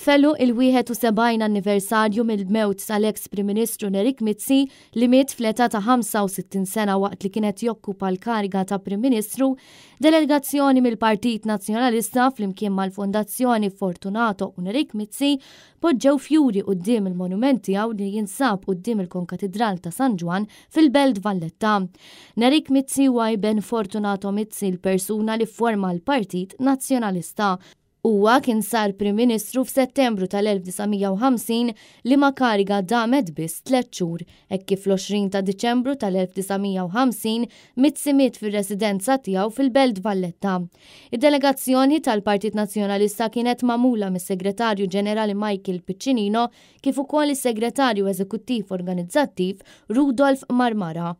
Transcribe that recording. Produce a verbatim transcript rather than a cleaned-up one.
F'għeluq il-wieħed u sebgħin anniversarju mill-mewt tal-eks Prim Ministru Nerik Mizzi, li miet fl-età ta' ħamsa u sittin sena waqt li kienet jokkupa l-kariga ta' Prim Ministru, delegazzjoni mill-Partit Nazzjonalista flimkien mal-Fondazzjoni Fortunato u Nerik Mizzi poġġew fjuri quddiem il-monument tiegħu li jinsab quddiem il-Konkatidral ta' San Ġwann fil-Belt Valletta. Nerik Mizzi huwa iben Fortunato Mizzi, l-persuna li forma l-Partit Nazzjonalista. Huwa kien sar Prim Ministru f'Settembru tal-elf disa' mija u ħamsin, liema kariga damet biss tliet xhur, hekk kif l-għoxrin ta' Diċembru tal-elf disa' mija u ħamsin Mizzi miet fir-residenza tiegħu fil-Belt Valletta. Id-delegazzjoni tal-Partit Nazzjonalista kienet magħmula mis-Segretarju Ġenerali Michael Piccinino kif ukoll is-Segretarju Eżekuttiv Organizzattiv Rudolf Marmara.